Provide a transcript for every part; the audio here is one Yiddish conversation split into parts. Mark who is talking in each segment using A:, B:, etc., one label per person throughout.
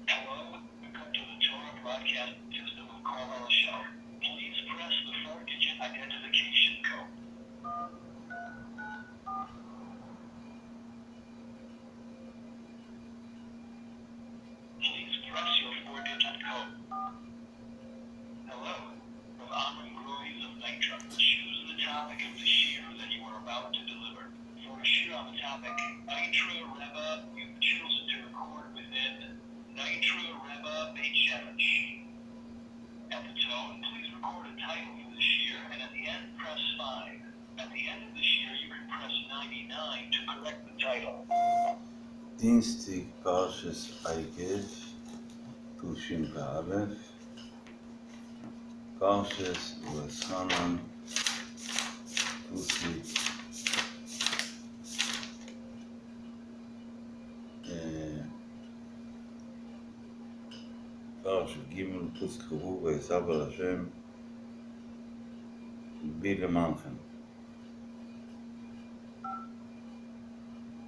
A: Hello, welcome to the Torah broadcast system of Carmel Show. Please press the 4-digit identification code. Please press your 4-digit code. Hello, from Amram Groys of Nitra. Choose the topic of the shiur that you are about to deliver. For a shiur on the topic, Nitra Rebbe, you've chosen to record within Nitra Rebbe Beit Shemesh. At the tone, please record a title for the shiur, and at the end, press 5. At the end of the shiur, you can press 99 to correct the title.
B: דינסטיק פרשס עקב, תשפ"א, פרשס ואתחנן, פסוק פרשת ג' פסוק כ"ו ויצו אל השם בי למענכם.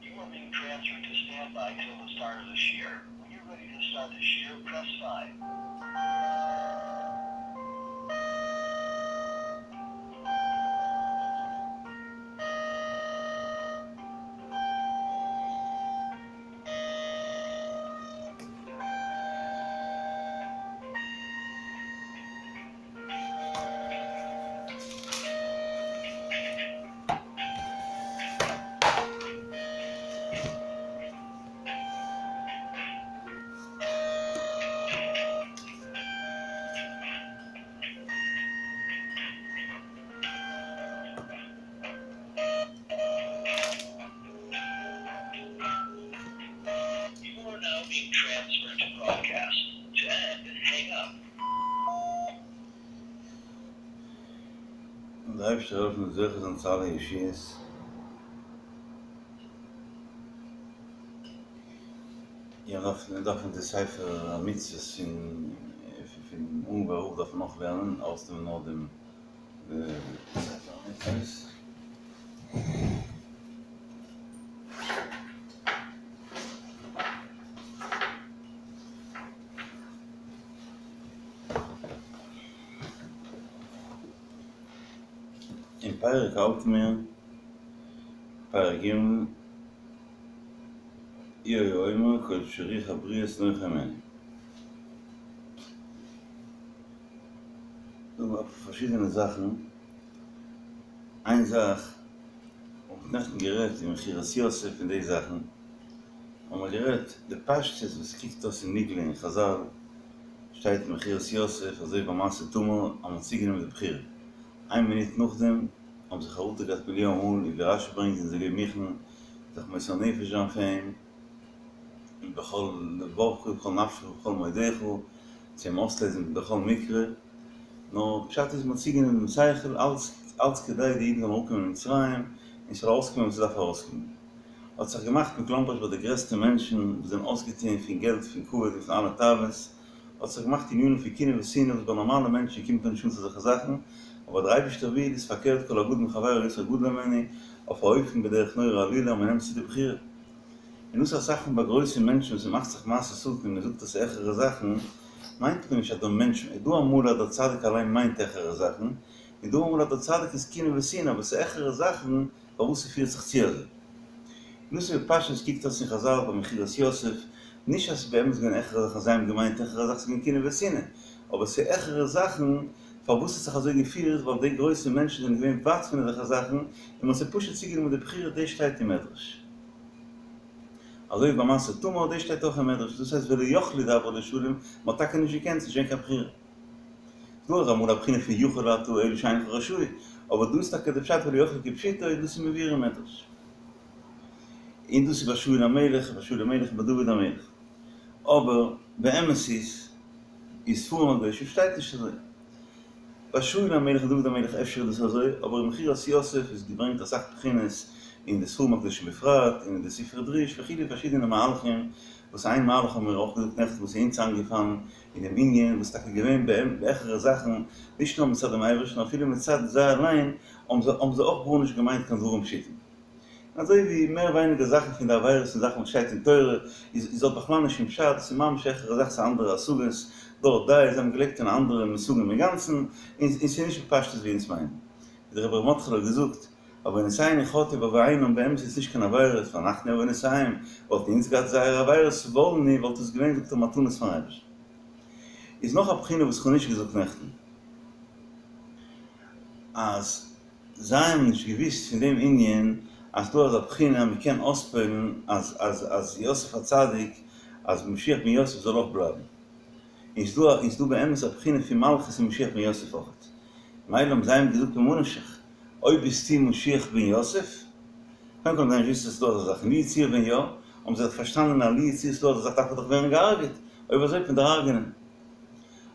A: You are being transferred to standby till the start of the shiur. When you're ready to start the shiur, press 5. You are now being transferred to broadcast. To end, hang up.
B: און דער אייבערשטער העלפן מיר זוכה זיין צו אלע ישועות. יא, דארף מען דארף די ספר המצוות פון פון אונגוואר רב דארף מען נאך לערנען, אויסנעמען נאר דעם ספר המצוות. אין פרק האלטן מיר, פרק ג', הוא היה אומר כל שרוח הבריות נוחה הימנו. דא האבן מיר פארשידענע זאכן, איין זאך האב איך נעכטן גערעדט אין מכירת יוסף און די זאכן, האבן מיר גערעדט די פשטות וואס קוקט אויס אין נגלה אין חזל, שטייט אין מכירת יוסף אזוי ביי מעשה תמר אז מען האט צוגענומען די בכורה, איין מינוט נאכדעם האבן זיי חרטה געהאט מיליאן מאל, און ווי רשי ברענגט זענען זיי געווען מוכן זיך מוסר נפש זיין פאר אים, בכל לבבך ובכל נפשך ובכל מאודך, צו אים אויסלעזן בכל מקרה, נאר פשט איז מ'האט צוגענומען דעם שכל, אלץ אלץ כדי די אידן זאלן אראפקומען אין מצרים, און ס'זאל ארויסקומען וואס ס'דארף ארויסקומען. האט זיך געמאכט מכלומרשט ביי די גרעסטע מענטשן וואס זענען אויסגעטוען פון געלט פון כבוד און פון אלע תאוות, האט זיך געמאכט ענינים פון קנאה ושנאה וואס ביי נארמאלע מענטשן קומט מען נישט אן צו אזעלכע זאכן, אבער דער אייבערשטער וויל איז פארקערט כל הגדול מחבירו יותר גדול ממנו, אויף א אופן בדרך נורא עלילה אז מ'נעמט צו די בחירה. און דאס אסאך מאל ביי גרויסע מענטשן וואס ס'מאכט זיך מעשה שטן און מ'זאגט אז ס'איז העכערע זאכן, מיינט מען נישט אז דער מענטש, איז דא אמאל אז דער צדיק אליין מיינט העכערע זאכן, און דא אמאל אז דער צדיק איז קנאה ושנאה אבער ס'איז העכערע זאכן פארוואס ס'פירט זיך צו אזוי. און דאס איז בפשטות קוקט אויס אין חזל ביי מכירת יוסף, נישט אז ס'איז באמת געווען העכערע זאכן זיי האבן געמיינט העכערע זאכן ס'איז געווען קנאה ושנאה, אבער ס'איז העכערע זאכן פארוואס ס'האט זיך אזוי געפירט ווייל די גרויסע מענטשן זענען געווען ווייט פון אזעלכע זאכן און מ'האט זיי פשוט צוגענומען די בחירה דאס שטייט אין מדרש. אזוי ווי ביי מעשה תמר דאס שטייט אויך אין מדרש דאס הייסט ולא יכלו דברו לשלום מ'האט טאקע נישט געקענט ס'איז נישט געווען קיין בחירה. דא איז אמאל א בחינה פון יכול אתה אלא שאינך רשאי, אבער דא איז טאקע די פשט ולא יכלו כפשוטו, דאס איז מבואר אין מדרש. און דאס איז ביי שאול המלך, ביי שאול המלך און ביי דוד המלך. אבער באמת איז אין ספרים הקדושים שטייט נישט אזוי. ביי שאול המלך און דוד המלך אפשר איז דאס אזוי, אבער אין מכירת יוסף איז געברענגט אסאך בחינות אין די ספרים הקדושים בפרט, און אין די ספרי דרוש וכו' פארשידענע מהלכים, וואס איין מהלך האבן מיר אויך געזאגט נעכטן וואס איז אונז איינגעפאלן, אין דעם ענין וואס טאקע געווען בהעכערע זאכן, נישט נאר מצד דעם אייבערשטן אפילו מצד זיי אליין, האבן זיי האבן זיי אויך גארנישט געמיינט קיין דברים פשוטים. און אזוי ווי מער ווייניגער זאכן פון די עבירות און זאכן וואס שטייט אין תורה איז איז האט בכלל נישט שום פשט, ס'איז ממש העכערע זאך ס'איז אנדערע השגות, דארט די זיי האבן געלעבט אין אנדערע מושגים אינגאנצן, און און ס'איז נישט בפשטות ווי אונז מיינען. ווי דער רבי ר' מרדכי'לע האט געזאגט, עוונותינו חטאו בעוונם באמת איז נישט קיין עבירות, ואנחנו עוונותיהם, וואלטן אונז געהאט זייערע עבירות סבלנו וואלט עס געווען זאגט ער מתנות פארן אייבערשטן. איז נאך א בחינה וואס כ'האב נישט געזאגט נעכטן, אז זיי האבן נישט געוואוסט פון דעם ענין אז דא אזא בחינה אז מ'קען אויספועל'ן אז אז אז יוסף הצדיק אז משיח בן יוסף זאל אויך בלייבן. איז דא איז דא באמת א בחינה פון מלכות אין משיח בן יוסף אויכעט. מילא האבן זיי אים געזאגט ממה נפשך, אויב ביסטו משיח בן יוסף, קודם כל האבן זיי נישט געוואוסט אז ס'איז דא אזא זאך, לו יצוייר ווען יא, האבן זיי דאך פארשטאנען אז לו יצוייר ס'איז דא אזא זאך דארף ער דאך ווערן געהארגעט, אויב אזוי וועט מען דיר הרג'נען.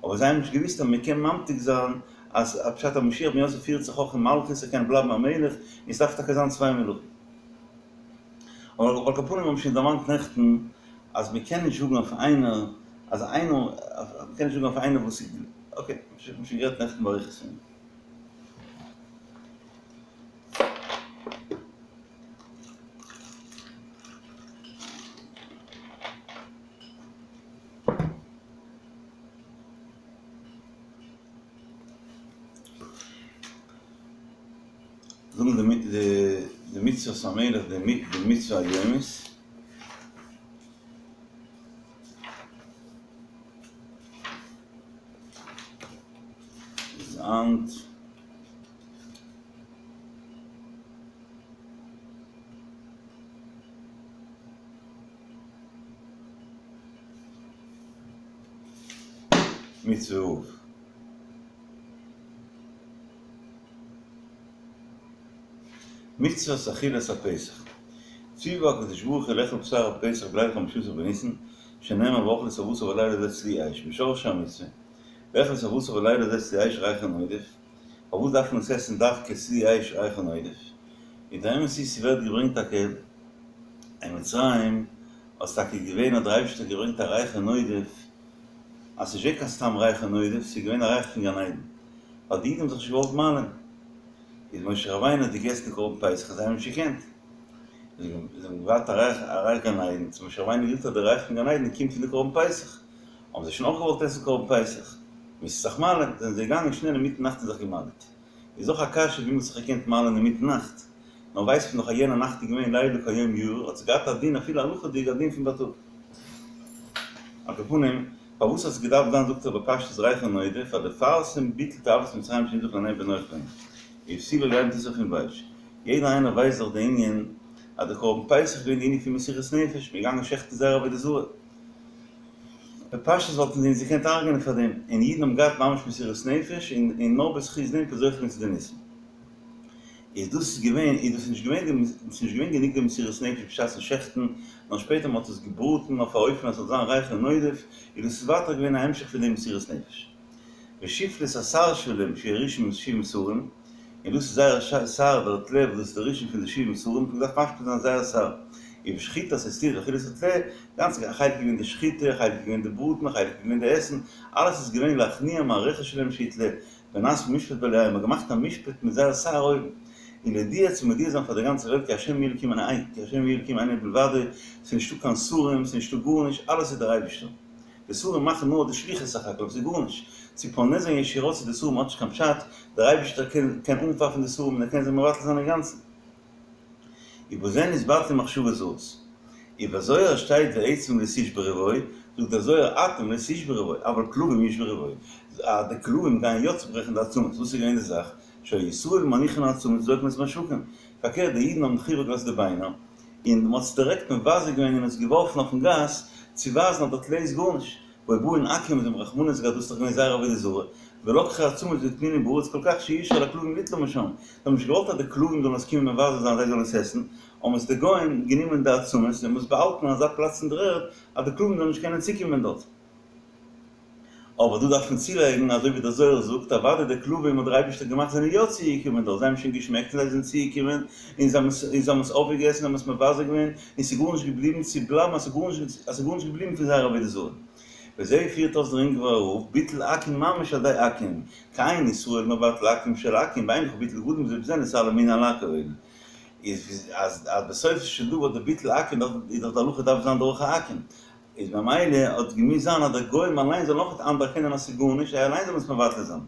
B: אבער זיי האבן נישט געוואוסט אז מ'קען ממתיק זיין אז א פשט אז משיח בן יוסף פירט זיך אויך אין מלכות ער קען בלייבן א מלך, און ס'דארף טאקע זיין צוויי מלכים. אבער על כל פנים האבן שוין דערמאנט נעכטן אז מען קען נישט זאגן אויף איינער אז איינער מען קען נישט זאגן אויף איינער וואס איז אקעי מ'האט שוין גערעדט נעכטן באריכות פון דעם. זאגן די מצוות המלך די מצוה היומית. איז היינט מצוה ו'. מצוות אכילת הפסח. ציוה הקדוש ברוך הוא לאכול בשר הפסח בליל חמשה עשר בניסן, שנאמר ואכלו את הבשר בלילה הזה צלי אש, ושורש המצוה, לאכול את הבשר בלילה הזה צלי אש ריחו נודף, פארוואס דארף מען עס עסן דווקא צלי אש ריחו נודף? און דער אמת איז ס'ווערט געברענגט טאקע אין מצרים אז טאקע געווען האט דער אייבערשטער געברענגט א ריחו נודף, אז ס'איז נישט געווען קיין סתם ריחו נודף, ס'איז געווען א ריח פון גן עדן, ווייל די אידן האבן זיך נישט געוואלט מל'ען. איז משה רבינו האט געגעסן די קרבן פסח און זיי האבן נישט געקענט. זיי האבן געווארט א ריח א ריח גן עדן, האט משה רבינו געזאגט אז די ריח פון גן עדן קומט פון די קרבן פסח. האבן זיי שוין אויך געוואלט עסן קרבן פסח. מוזט זיך מל'ען, זענען זיי געגאנגען שנעל אינמיטן נאכט און זיך געמל'עט. איז אויך א קשיא ווי מ'האט זיך געקענט מל'ען אינמיטן נאכט. נאר ווייסט מען דאך אז יענע נאכט איז געווען לילה כיום יאיר, האט עס געהאט א דין אפילו הלכה'דיג א דין פון בייטאג. על כל פנים, פארוואס האט עס געדארפט זיין זאגט ער בפשטות ריחו נודף, פאר לפרסם ביטול תאוות מצרים שנמשך לעיני בני נח ובפתילה יין תשרפון באש. יעדער איינער ווייסט דאך די ענין אז די קרבן פסח איז געווען די ענין פון מסירות נפש, מ'איז געגאנגען שעכטן זייער עבודה זרה. בפשטות וואלטן זיי אונז געקענט הרג'נען פאר דעם, און אידן האבן געהאט ממש מסירות נפש, און נאר בזכות דעם זוכה געווען צו די ניסים. איז דאס געווען, איז דאס נישט געווען די, ס'איז נישט געווען גענוג די מסירות נפש בשעת'ן שעכטן, נאר שפעטער מ'האט עס געבראטן אויף א אופן אז ס'זאל זיין ריחו נודף, איז דאס ווייטער געווען א המשך פון די מסירות נפש. ושפלות השר שלהם שהוא ראשון משבעים שרים, און דאס איז זייער שר דער טלה וואס דאס איז דער ראשון פון די שבעים שרים, מ'האט געדארפט משפיל זיין זייער שר. ובשחיטת האיסטוונית ואכילת הטלה, גאנץ א חלק איז געווען די שחיטה, א חלק איז געווען די בראטן, א חלק איז געווען די עסן, אלעס איז געווען להכניע מערכת שלהם שהיא טלה, ונעשה משפט באלהיהם, מ'האט געמאכט א משפט מיט זייער שר אויבן, און להודיע צו מודיע זיין פאר די גאנצע וועלט כי השם הוא האלקים אין כי השם הוא האלקים אין עוד מלבדו, ס'איז נישטא קיין שרים, ס'איז נישטא גארנישט, אלעס איז דער אייבערשטער. די שרים מאכן נאר די שליחות סך הכל, ס'איז גארנישט. צו פונה זיין ישירות צו די שרים האט נישט קיין פשט, דער אייבערשטער קען קען אנפייפן די שרים און ער קען זיי מבטל זיין אינגאנצן. ובזה נתבטלו מחשבות זרות. ובזוהר שטייט ועצם לא תשברו בו, זאגט דער זוהר אתם לא תשברו בו, אבל כלבים ישברו בו, אז די כלבים גייען יא צוברעכן די עצמות, וואס איז געווען די זאך? שהיו ישראל מניחין העצמות וזורקין את המשקים, פארקערט די אידן האבן דאך איבערגעלאזט די ביינער, און מען האט עס דירעקט מבזה געווען און עס געווארפן אויפן גאס, צו ווייזן אז דער טלה איז גארנישט, והיו באין עכו"ם זיי האבן רחמנות געהאט דאס איז דאך געווען זייער עבודה זרה, ולקחו העצמות והטמינום בארץ כל כך שאי אפשר לכלבים ליטלא משם, זיי האבן נישט געוואלט אז די כלבים זאלן עס קומען מבזה זיין זיי זאלן עס עסן, האבן עס די גוים גענומען די עצמות און האבן עס באהאלטן אין אזא פלאץ אין דער ערד אז די כלבים זאלן נישט קענען צוקומען דארט. אבער דא דארף מען צולייגן, אזוי ווי דער זוהר זאגט, אוודאי די כלבים האט דער אייבערשטער געמאכט זענען יא צוגעקומען דארט, זיי האבן שוין געשמעקט און זיי זענען צוגעקומען און זיי האבן עס אויפגעגעסן, זיי האבן עס מבזה געווען, און ס'איז גארנישט געבליבן צו בלייבן אז ס'איז גארנישט געבליבן פון זייער עבודה זרה. וזה פירט אויס דער אונגווארער רב, ביטול עכו"ם ממש על ידי עכו"ם, כי אין ישראל מבטל עכו"ם של עכו"ם, ואין לך ביטול גדול מזה ובזה נתעלה אמונה על הכל. איז אז בסופו של דבר די ביטול עכו"ם איז דאך די הלכה דארף זיין דורך א עכו"ם, איז ממילא האט געמוזט זיין אז די גוים אליין זאלן אויך אנערקענען אז ס'איז גארנישט, זיי אליין זאלן עס מבטל זיין.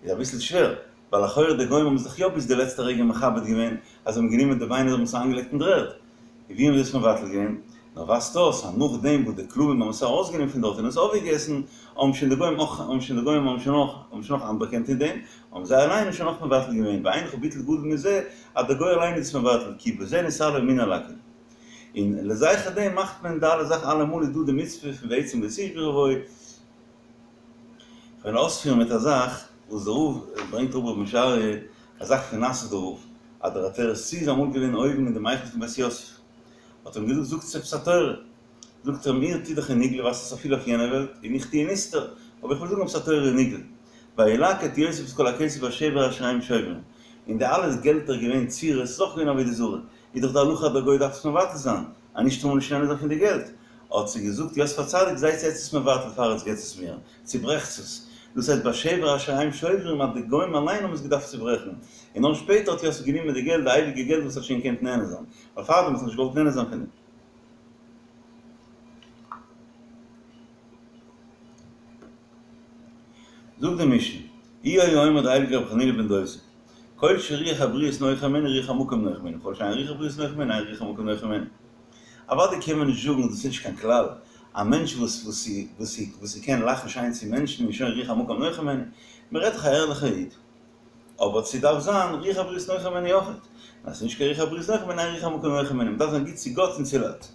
B: איז אביסל שווער, ווייל לכאורה די גוים האבן עס דאך יא ביז די לעצטע רגע מכבד געווען, אז זיי האבן גענומען די ביינער און האבן עס אריינגעלייגט אין דר'ערד. און ווי האבן זיי עס מבטל געווען? נאר ווייזט אויס אז נאכדעם וואס די כלבים האבן עס ארויסגענומען פון דארט און עס אויפגעגעסן, האבן שוין די גוים אויך, האבן שוין די גוים האבן שוין אויך, האבן שוין אויך אנערקענט אין דעם, האבן זיי אליין שוין אויך מבטל געווען, ואין לך ביטול גדול מזה, אז דער גוי אליין איז עס מבטל, כי בזה נתעלה אמונה על הכל. און לזכר דעם מאכט מען די אלע זאכן אלעמאל איז דא די מצוה פון ועצם לא תשברו בו. כ'וועל אויספירן מיט א זאך וואס דער רב ברענגט אראפ רבי משה אריה, א זאך פון נאסוידער רב, אז דער עטרת צבי איז אמאל געווען אויבן אין דעם היכל פון בית יוסף, האט ער אים געזאגט זאגטס עפעס א תורה, זאגט ער אים איר טוט דאך אין נגלה ווייזט עס אפילו אויף יענע וועלט, און איך טו אין נסתר, אבער איך וועל זאגן עפעס א תורה אין נגלה, וילקט יוסף את כל הכסף בשבר אשר הם שוברים, און די אלע געלטער געווען צורות, ס'איז אויך געווען עבודה זרה, איז דאך די הלכה אז דער גוי דארף עס מבטל זיין, אז נישט טאר מען נישט נהנה זיין פון די געלט. האט זיי געזאגט יוסף הצדיק זייטס עטס עס מבטל פאר עטס געטס עס מיר, צוברעכטס עס. דאס הייסט בשבר אשר הם שוברים אז די גוים אליין האבן עס געדארפט צוברעכן, און נאר שפעטער האט יוסף גענומען די געלט, די הייליגע געלט וואס האט שוין געקענט נהנה זיין, ווייל פארדעם האט ער נישט געוואלט נהנה זיין פון דעם. זאגט די משנה, הוא היה אומר דער הייליגער רבי חנינא בן דוסא, כל שרוח הבריות נוחה ממנו רוח המקום נוחה ממנו, כל שאין רוח הבריות נוחה ממנו אין רוח המקום נוחה ממנו. אוודאי קען מען נישט זאגן דאס איז נישט קיין כלל, א מענטש וואס וואס וואס וואס קען לאכן שיין צו מענטשן איז שוין רוח המקום נוחה ממנו, מען רעדט דאך א ערליכער איד, אבער ס'דארף זיין רוח הבריות נוחה ממנו אויכעט, אז ס'איז נישט קיין רוח הבריות נוחה ממנו אין רוח המקום נוחה ממנו, מען דארף זיין גוט צו גאט און צו לייט.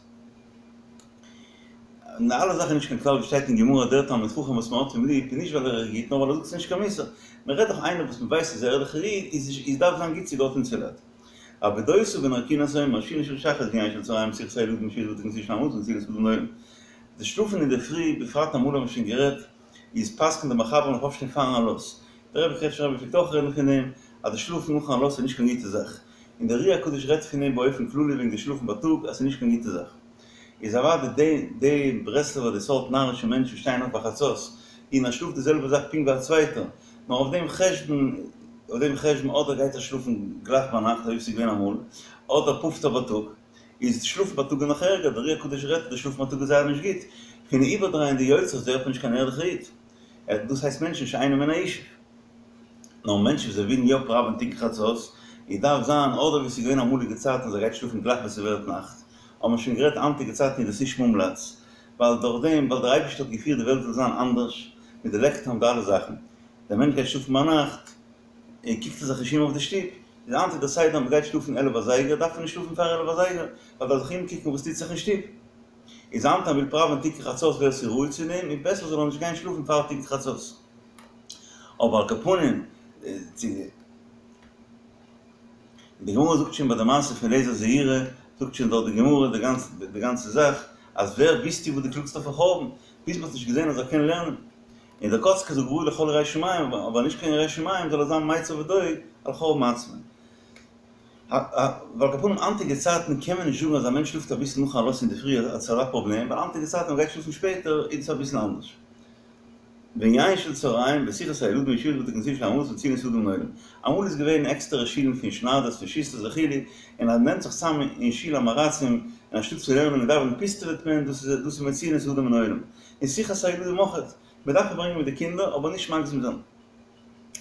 B: און די אלע זאכן איז נישט קיין כלל ווי שטייט אין גמרא דער תלמיד חכם וואס מען האט אים ליב איז נישט ווייל ער איז גוט נאר ווייל ער זאגט נישט קיין מוסר. מען רעדט דאך איינער וואס מען ווייסט איז א ערליכער איד איז איז דארף זיין גוט צו גאט און צו לייט. רבי דוסא בן הרכינס אומר שינה של שחרית ויין של צהריים שיחת הילדים שבעת ותיקין של המזון ונתינת מזון לעולם. די שלאפן אינדערפרי בפרט אמאל האבן מיר שוין גערעדט איז פסק'נט די מחבר מ'דארף אויפשטיין פארן עלות. דער רבי קרעטשניפער רבי פלעגט אויך רעדן פון דעם אז די שלאפן נאכן עלות איז נישט קיין גוטע זאך. און דער אר"י הקדוש רעדט פון דעם באופן כללי וועגן די שלאפן בייטאג אז ס'איז נישט קיין גוטע זאך. איז אוודאי די די ברסלב'ער די סארט נארישע מענטשן שטייען אויף ביי חצות און ער שלאפט די זעלבע זאך פונקט ווי א צווייטער נאר אויף דעם חשבון אויף דעם חשבון אדער גייט ער שלאפן גלייך ביינאכט אזוי ווי ס'איז געווען אמאל אדער פאפט ער בייטאג איז שלאפן בייטאג איז נאך ערגער דער אר"י הקדוש רעדט אז די שלאפן בייטאג איז זייער נישט גוט פון איבערדרייען די יוצרות ווערט מען נישט קיין ערליכער איד דאס הייסט מענטשן שאינם מן הישוב. נאר מענטשן וואס זיי ווילן יא פראווען תיקון חצות, איז דארף זיין אדער ווי ס'איז געווען אמאליגע צייטן אז ער גייט שלאפן גלייך ווען ס'ווערט נאכט, האבן מיר שוין גערעדט היינטיגע צייטן איז דאס נישט מומלץ, ווייל דורך דעם ווייל דער אייבערשטער האט געפירט די וועלט זאל זיין אנדערש, מיט די לעקטער און די אלע זאכן, דער מענטש גייט שלאפן ביינאכט, און קוקט ער זיך נישט אום אויף די שטוב, איז היינט איז דער סדר אז מ'גייט שלאפן עלף אזייגער דארף מען נישט שלאפן פאר עלף אזייגער, ווייל דארף זיך אומקוקן וואס טוט זיך אין שטוב. איז היינט אז מ'וויל פראווען תיקון חצות ווער ס'איז ראוי צו דעם, איז בעסער זאל ער נישט גיין שלאפן פאר תיקון חצות. אבער על כל פנים, צו. און די גמרא זאגט שוין ביי די מעשה פון אליעזר זעירא, זאגט שוין דארט די גמרא די גאנצע די גאנצע זאך, אז ווער ביסטו וואס דו קלאגסט אויפן חורבן, ביז מ'האט נישט געזען אז ער קען לערנען. און דער קאצקער זאגט ראוי לכל יראי שמים, אבער נישט קיין ירא שמים זאל ער זיין מיצר ודואג על חורבן עצמו. ווייל על כל פנים היינטיגע צייטן קען מען נישט זאגן אז א מענטש שלאפט אביסל נאכן עלות אינדערפרי אז ס'איז אזא פראבלעם, ווייל היינטיגע צייטן ווען מ'גייט שלאפן שפעטער איז עס אביסל אנדערש. וענין של צהריים, ושיחת הילדים בישיבות בתי כנסיות של עם הארצים מצילים את האדם מן העולם. אמאל איז געווען עקסטערע שילן פון שניידערס פון שוסטערס וכו', און אז מ'נעמט זיך צאם אין שול עם הארצים, און אנשטאט צו לערנען און דאווענען פיסטעוועט מען, דאס איז דאס איז מצילים את האדם מן העולם. און שיחת הילדים אויכעט, מ'דארף פארברענגען מיט די קינדער, אבער נישט מגזים זיין.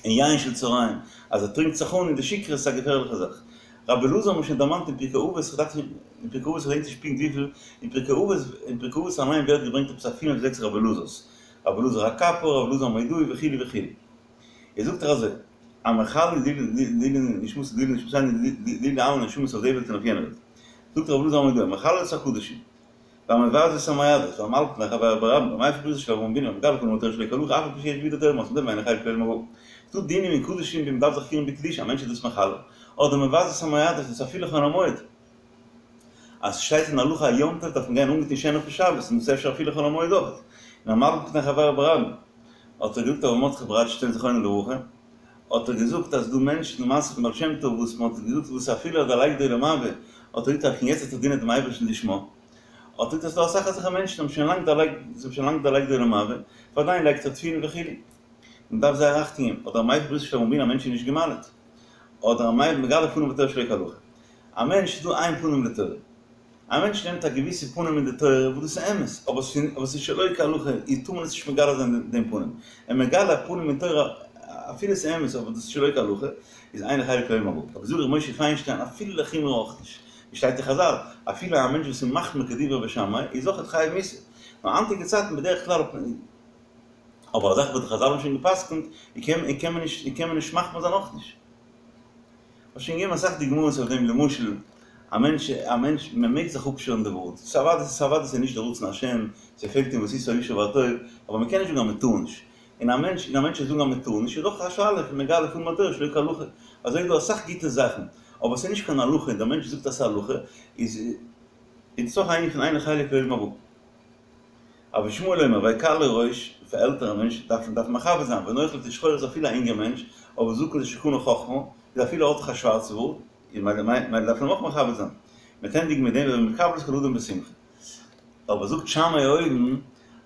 B: און יין של צהריים, אז ער טרינקט זיך אן אין די שכרות איז א געפערליכע זאך. רבי אלעזר האט מען שוין דערמאנט אין פרקי אבות, איך דארף נישט, אין פרקי אבות כ'דענק נישט פונקט וויפיל, אין פרקי אבות, אין פרקי אבות אליין ווערט געברענגט עפעס א פינף זעקס רבי אלעזר'ס, רבי אלעזר הקפר, רבי אלעזר המודעי וכו' וכו'. איז זאגט ער אזוי, המחלל לעילוי נשמתו לעילוי נשמתינו לעילוי אלע נשמות אויף די וועלט און אויף יענע וועלט. זאגט רבי אלעזר המודעי, המחלל את הקדשים. והמבזה את המועדות, והמלבין פני חבירו ברבים, והמפר בריתו של אברהם אבינו, והמגלה פנים בתורה שלא כהלכה, אף על פי שיש בידו תורה ומסורה ואינו חלק לעולם הבא. ס'דא דינים אין קדשים ווי מ'דארף זיך פירן בקדושה, א מענטש איז דאס מחלל, אדער מבזה את המועדות, דאס אפילו חול המועד. אז ס'שטייט אין הלכה א יום טוב דארף מען גיין אנגעטון שענער פון שבת, און דאס אפשר אפילו חול המועד אויך. און המלבין פני חבירו ברבים. האט ער געזאגט אברהם מרדכי בראדשטיין זכרונו לברכה, האט ער געזאגט אז דא מענטשן די מעשה פון בעל שם טוב וואס מען האט געזאגט וואס אפילו ער דערלייגט די עולם הבא, האט ער געזאגט אז פון יעצט וועט ער דינען דעם אייבערשטן לשמה, האט ער געזאגט אז ס'דא אסאך אזעלכע מענטשן האבן שוין לאנג דערלייגט, זיי האבן שוין לאנג דערלייגט די עולם הבא, ועדיין לייגט ער תפילין וכו'. מען דארף זייער אכטונג געבן, אדער א מפר בריתו של אברהם אבינו א מענטש איז נישט גע'מל'ט, אדער א מגלה פנים בתורה שלא כהלכה. א מענטש איז דא איין פנים לתורה. א מענטש נעמט א געוויסע פנים אין די תורה וואס דאס איז אמת, אבער ס'איז שלא כהלכה, איז טאר מען עס נישט מגלה זיין דעם פנים. און מגלה א פנים אין תורה אפילו ס'איז אמת אבער דאס איז שלא כהלכה, איז אין לו חלק לעולם הבא. אבער זאגט ר' משה פיינשטיין אפילו לחומרא אויך נישט. ווי שטייט אין חזל, אפילו א מענטש וואס איז מחמיר כדברי בית שמאי איז אויכעט חייב מיתה. נאר היינטיגע צייטן בדרך כלל האט מען. אבער א זאך וואס די חזל האבן שוין גע'פסק'נט, קען מען נישט מחמיר זיין אויך נישט. כ'האב שוין געגעבן אסאך דוגמאות אויף דעם, למשל, א מענטש, א מענטש, מען מעג זיך אפשערן די בארד, ס'איז אוודאי, ס'איז אוודאי ס'איז נישט די רצון השם, ס'פעלט אין ועשית הישר והטוב, אבער מען קען נישט זאגן אז מען טאר נישט, און א מענטש, און א מענטש וועט זאגן אז מען טאר נישט, איז דאך א שאלה פון מגלה פנים בתורה שלא כהלכה, אזוי איז דא אסאך גוטע זאכן, אבער ס'איז נישט קיין הלכה, און דער מענטש זאגט אז ס'איז הלכה, איז איז דאס אויך א ענין פון אין לו חלק לעולם הבא. רבי ישמעאל אומר, והקל לראש, פאר עלטערע מענטש דארף מען דארף מכבד זיין, ונוחל תשחורת אפילו א אינגער מענטש, אבער זקן זה שקנה חכמה, איז אפילו האט דאך א שווארצע בארד, איז מילא מילא דארף מען אים אויך מכבד זיין. מ'וועט ענדיגן מיט דעם והוי מקבל את כל האדם בשמחה. אבער זאגט שמאי אויבן,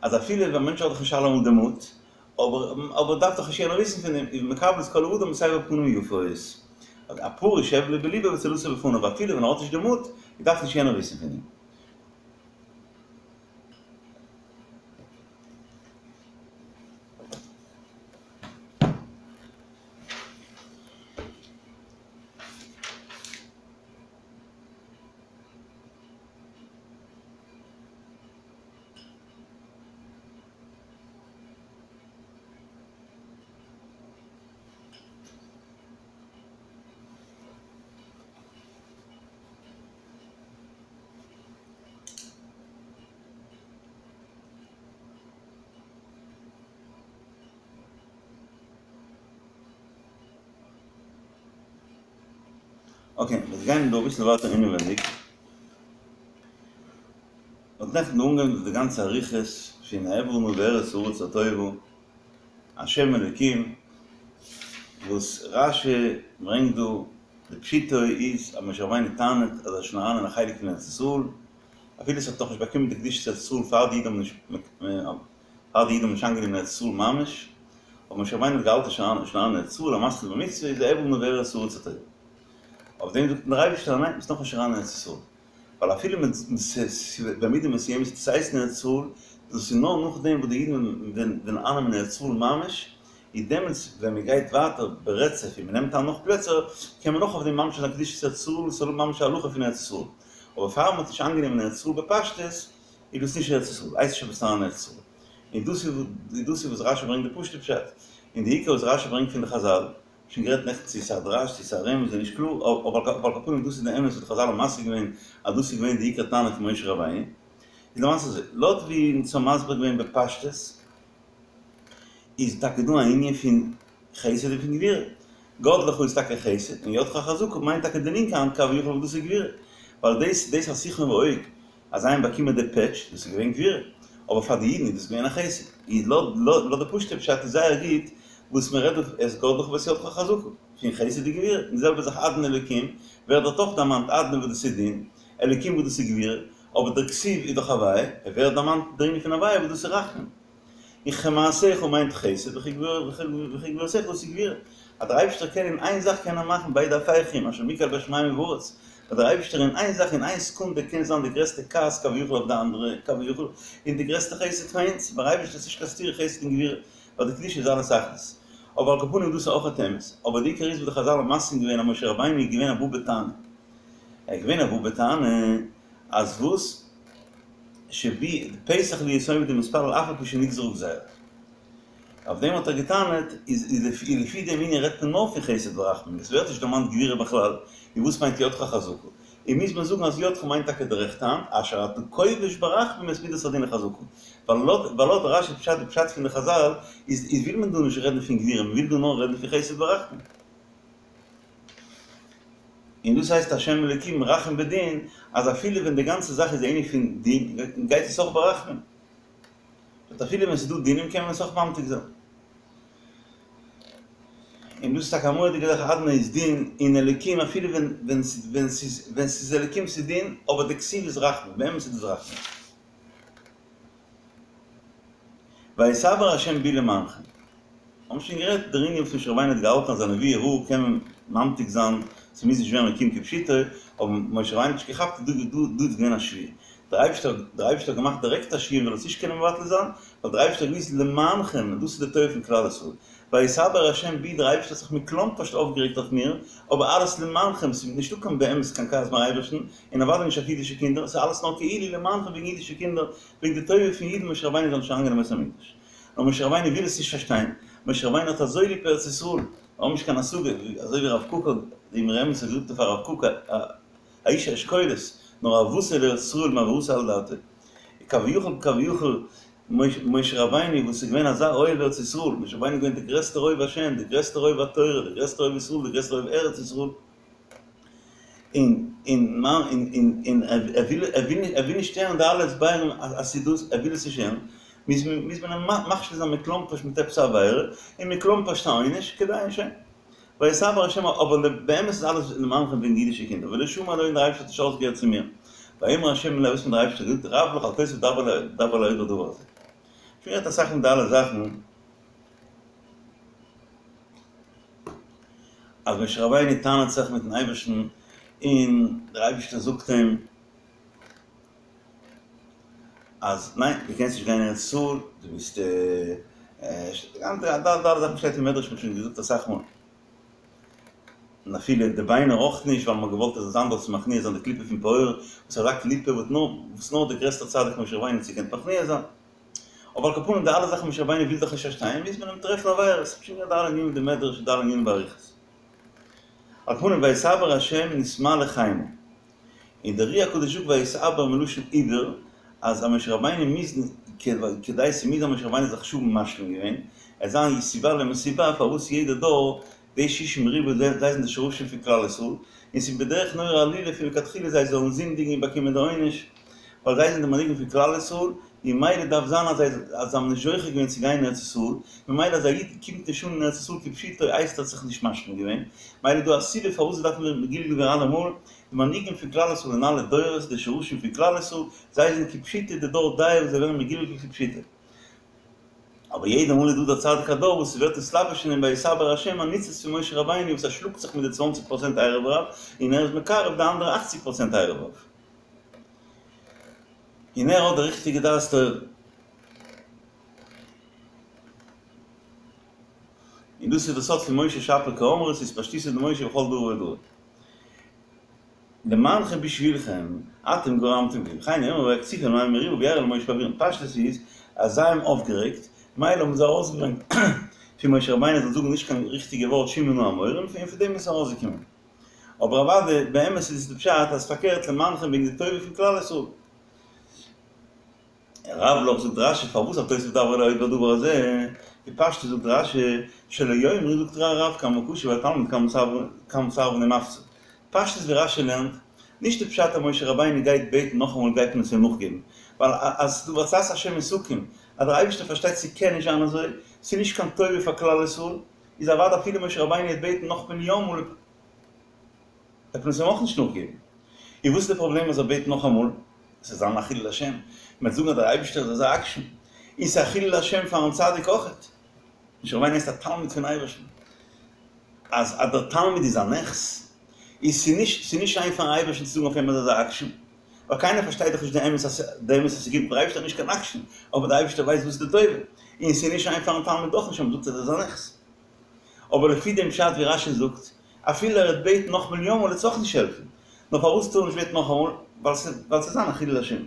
B: אז אפילו ווען א מענטש האט דאך נישט אלעמאל די מוט, אבער אבער דארף דאך נישט יענער וויסן פון דעם, איז מקבל את כל האדם בסבר פנים יפות. הפרוש הבלו בלבו וצלתו בפניו, אפילו ווען ער האט נישט די מוט, דארף נישט יענער וויסן פון דעם. אקעי, מיר גייען דא אביסל ווייטער אינעווענדיג. מ'האט נעכטן אנגעהויבן די גאנצע אריכות פון אעברה נא ואראה את הארץ הטובה, השם אלוקים, וואס רש"י ברענגט דא, די פשיטא איז אז משה רבינו טענה'ט אז ער איז שוין אריין אין א חלק פון ארץ ישראל, אפילו עס האט נאכנישט באקומען די קדושת ארץ ישראל פאר די אידן האבן נישט פאר די אידן האבן נישט איינגענומען ארץ ישראל ממש, אבער משה רבינו האט געהאלטן שוין אריין אין ארץ ישראל, המתחיל במצוה איז אעברה נא ואראה את הארץ הטובה. אויף דעם זאגט אים דער אייבערשטער ניין ביסט נאכנישט אריין אין ארץ ישראל. ווייל אפילו במידה מסוימת וועט עס הייסן ארץ ישראל, דאס איז נאר נאכדעם וואס די אידן וועלן אייננעמען ארץ ישראל ממש, איז דעמאלטס ווען מען גייט ווייטער ברצף און מען נעמט איין נאך פלעצער, קען מען נאך אויף דעם ממשיך זיין קדושת ארץ ישראל, עס זאל האבן ממש א הלכה פון ארץ ישראל. אבער פאר מען האט נישט איינגענומען ארץ ישראל בפשטות, איז דאס נישט ארץ ישראל, הייסט נישט אז ביסט אריין אין ארץ ישראל. און דאס איז וואס רשי ברענגט די פשוט'ע פשט, און די עיקר וואס רשי ברענגט פון די חזל, שוין גערעדט נעכטן צו ס'איז א דרש צו ס'איז א רמז איז נישט קלאר, אבער על כל פנים דאס איז די אמת וואס די חזל האבן משיג געווען אז דאס איז געווען די עיקר טענה פון משה רבינו, איז למעשה אזוי, לויט ווי אונז האבן מסביר געווען בפשטות, איז טאקע דא א ענין פון חסד און פון גבורה. גדלך איז טאקע חסד, און ידך החזקה מיינט טאקע די לינקע האנט כביכול וואס דאס איז גבורה. ווייל דאס דאס אז סיחון ועוג אז זיי האבן באקומען די פעטש, דאס איז געווען גבורה. אבער פאר די אידן איז דאס געווען א חסד. איז לויט לויט די פשוט'ע פשט איז זייער גוט וואס מען רעדט דא את גדלך ואת ידך החזקה. פון חסד און גבורה. און די זעלבע זאך אדני אלוקים ווערט דארט אויך דערמאנט אדני וואס דאס איז דין, אלוקים וואס דאס איז גבורה, אבער דער כתיב איז דאך הוויה, ער ווערט דערמאנט דער ענין פון הוויה וואס דאס איז רחמים. און חמתך מיינט חסד וכי גבורתך דאס איז גבורה. אז דער אייבערשטער קען אין איין זאך קען ער מאכן ביידע הפכים אשר מי קל בשמים ובארץ, אז דער אייבערשטער אין איין זאך אין איין סעקונדע קען זיין די גרעסטע כעס כביכול אויף די אנדערע כביכול און די גרעסטע חסד פאר אונז, ביים אייבערשטער איז נישט קיין סתירה חסד און גבורה, ווייל די קדושה איז אלעס אחדות. אבער על כל פנים דאס איז אויך אמת. אבער די עיקר איז וואס די חזל האבן מסכים געווען אז משה רבינו איז געווען א בא בטענה. ער איז געווען א בא בטענה אז וואס? שבי פתח להיות עומד ומתפלל אף על פי שנגזרה גזירה. אויף דעם האט ער געטענה'ט איז לפי דעם ענין רעדט מען נאר פון חסד ורחמים, עס ווערט נישט דערמאנט גבורה בכלל, און וואס מיינט ידך חזקה? און מוז מען זאגן אז ידך מיינט טאקע די רעכטע האנט, אשר אתה כובש ברחמים את מידת הדין החזקה. ווייל לויט רשי פשט די פשט פון די חזל איז איז וויל מען דא נישט רעדן פון גבורה מען וויל דא נאר רעדן פון חסד ורחמים. און דאס הייסט השם אלוקים רחום בדין אז אפילו ווען די גאנצע זאך איז א ענין פון דין גייט עס אויך ברחמים. באט אפילו ווען ס'איז דא דינים קען מען עס אויך ממתיק זיין. און דאס איז טאקע א מורא'דיגע זאך אדני איז דין און אלוקים אפילו ווען ווען ווען ס'איז ווען ס'איז אלוקים ס'איז דין אבער די כתיב איז רחמים באמת איז דאס רחמים. ויתעבר ה' בי למענכם. האבן שוין גערעדט דער ענין וואס משה רבינו האט געהאלטן אז א נבואה רעה קען מען ממתיק זיין, ס'מוז נישט ווערן מקוים כפשוטו, אבער משה רבינו האט נישט געכאפט אז דא דא איז געווען א שבועה. דער אייבערשטער דער אייבערשטער האט געמאכט דירעקט א שבועה מ'זאל עס נישט קענען מבטל זיין, ווייל דער אייבערשטער האט געוואוסט למענכם, און דאס איז די טובה פון כלל ישראל. ויתעבר ה' בי, דער אייבערשטער האט זיך מכלומפערשט אויפגערעגט אויף מיר, אבער אלעס למענכם, ס'איז נישטא קיין באמת קיין כעס ביים אייבערשטן, און אוודאי נישט אויף אידישע קינדער, ס'איז אלעס נאר כאילו למענכם וועגן אידישע קינדער, וועגן די טובה פון אידן משה רבינו זאל נישט אריינגיין אין בית המקדש. נאר משה רבינו וויל עס נישט פארשטיין, משה רבינו האט אזוי ליב ארץ ישראל, מיר האבן נישט קיין השגה, אזוי ווי הרב קוק האט, די אמרי אמת האט געזאגט אויף הרב קוק א איש האשכולות, נאר אהבתו לארץ ישראל מעברתא על דעתא. כביכול כביכול משה רבינו וואס איז געווען אזא אוהב ארץ ישראל, משה רבינו איז געווען דער גרעסטער אוהב השם, דער גרעסטער אוהב התורה, דער גרעסטער אוהב ישראל, דער גרעסטער אוהב ארץ ישראל, און און און און ער וויל ער וויל ער וויל נישט הערן די אלע הסברים אז ס'איז דאס, ער וויל עס נישט הערן, מוז מען מוז מען אים מכשיל זיין מכלומפערשט מיט עפעס א עבירה, און מכלומפערשט א עונש, כדי שוין. ויתעבר השם אבער באמת איז אלעס למענכם וועגן אידישע קינדער, ולא שמע אלי און דער אייבערשטער האט נישט אויסגעהערט צו מיר. ויאמר השם אלי וואס האט דער אייבערשטער געזאגט, רב לך אל תוסיף דבר אלי עוד בדבר הזה. שוין גערעדט אסאך פון די אלע זאכן. אז משה רבינו טענה'ט זיך מיטן אייבערשטן און דער אייבערשטער זאגט אים אז ניין דו קענסט נישט גיין אין ארץ ישראל, דו ביסט די אלע זאכן שטייט אין מדרש מ'האט שוין געזאגט אסאך מאל, און אפילו די ביינער אויך נישט ווייל מ'האט געוואלט עס זאל זיין דארט צו מכניע זיין די קליפה פון פעור, וואס אזא קליפה וואס נאר וואס נאר דער גרעסטער צדיק משה רבינו האט געקענט מכניע זיין. אבער על כל פנים די אלע זאכן משה רבינו וויל דאך נישט פארשטיין מוז מען אים טרעפן עבירות, שוין געהאט די אלע ענינים די מדרש און די אלע ענינים באריכות. על כל פנים ויתעבר השם נתמלא חימה. און דער אר"י הקדוש זאגט ויתעבר מלשון עיבור אז א משה רבינו מוז כדי ס'מוז זיין משה רבינו זיך שוין משלים געווען עס זיין סיבה למסיבה פארוואס יעדע דור די שישים ריבוא זיי זענען די שרשים פון כלל ישראל און ס'איז בדרך נורא עלילה פון לכתחילה זיי זאלן זינדיגן און באקומען די עונש ווייל זיי זענען די מנהיגים פון כלל ישראל, און ממילא דארף זיין אז זיי אז זיי האבן נישט זוכה געווען צו גיין אין ארץ ישראל, ממילא אז א איד קומט נישט אן אין ארץ ישראל כפשוטו הייסט ער האט זיך נישט משלים געווען, ממילא איז דא א סיבה פארוואס זיי דארפן ווערן מגולגל ווערן אלעמאל, די מנהיגים פון כלל ישראל אין אלע דורות, די שרשים פון כלל ישראל, זיי זענען כפשוטו די דור דעה וואס זיי ווערן מגולגל כפשוטו. אבער יעדע מאל איז דא דער צדיק הדור וואס ס'ווערט נתלבש אין אים ויתעבר השם א ניצוץ פון משה רבינו וואס ער שלאגט זיך מיט די צוואנציג פראצענט ערב רב און ער איז מקרב די אנדערע אכציג פראצענט ערב רב. און ער האט די ריכטיגע דעת תורה. און דאס איז די סוד פון משה שפיר קאמרת אתפשטותא דמשה בכל דרא ודרא. למענכם בשבילכם, אתם גרמתם לי, וכן הוא אומר ויקציפו על מי מריבה וירא אל משה בעבירם. פשטות איז אז זיי האבן אויפגערעגט, מילא האבן זיי ארויסגעברענגט פון משה רבינו זאל זאגן נישט קיין ריכטיגע ווארט שמעו נא המורים, און פון דעם איז עס ארויסגעקומען. אבער אוודאי באמת איז עס די פשט אז פארקערט למענכם וועגן די טובה פון כלל ישראל. רב לך זאגט רשי פארוואס אל תוסיף דבר אלי עוד בדבר הזה, בפשטות זאגט רש"י שלא יאמרו זאגט רב כמה קשה והתלמיד כמה סרבן ומפציר. פשטות ווי רש"י לערנט, נישט די פשט אז משה רבינו גייט בעטן נאכאמאל גייט מען עס אים נאכגעבן, ווייל אז ס'דא עצת השם היא תקום, אז דער אייבערשטער פארשטייט ס'קען נישט זיין אזוי, ס'איז נישט קיין טובה פאר כלל ישראל, איז אוודאי אפילו משה רבינו וועט בעטן נאך מיליאן מאל וועט מען עס אים אויך נישט נאכגעבן. און וואס איז די פראבלעם אז ער בעט נאכאמאל? עס וועט זיין א חילול השם, מען וועט זאגן אז דער אייבערשטער איז אזא עקשן, און ס'איז א חילול השם פארן צדיק אויכעט. משה רבינו הייסט א תלמיד פון אייבערשטן, אז אז דער תלמיד איז א נכס, איז ס'נישט ס'נישט שיין פארן אייבערשטן צו זאגן אויף אים אז ער איז א עקשן, ווייל קיינער פארשטייט דאך נישט די אמת אז די אמת אז ס'גוט, דער אייבערשטער איז נישט קיין עקשן, אבער דער אייבערשטער ווייסט וואס איז די טובה, און ס'איז נישט שיין פארן תלמיד אויך נישט אז מ'זאגט אז ער איז א נכס. אבער לפי דעם פשט ווי רש"י זאגט, אפילו ער וועט בעטן נאך מיליאן מאל וועט עס אויך נישט העלפן, נאר פארוואס טאר ער נישט בעטן נאכאמאל? ווייל ס'וועט זיין א חילול השם.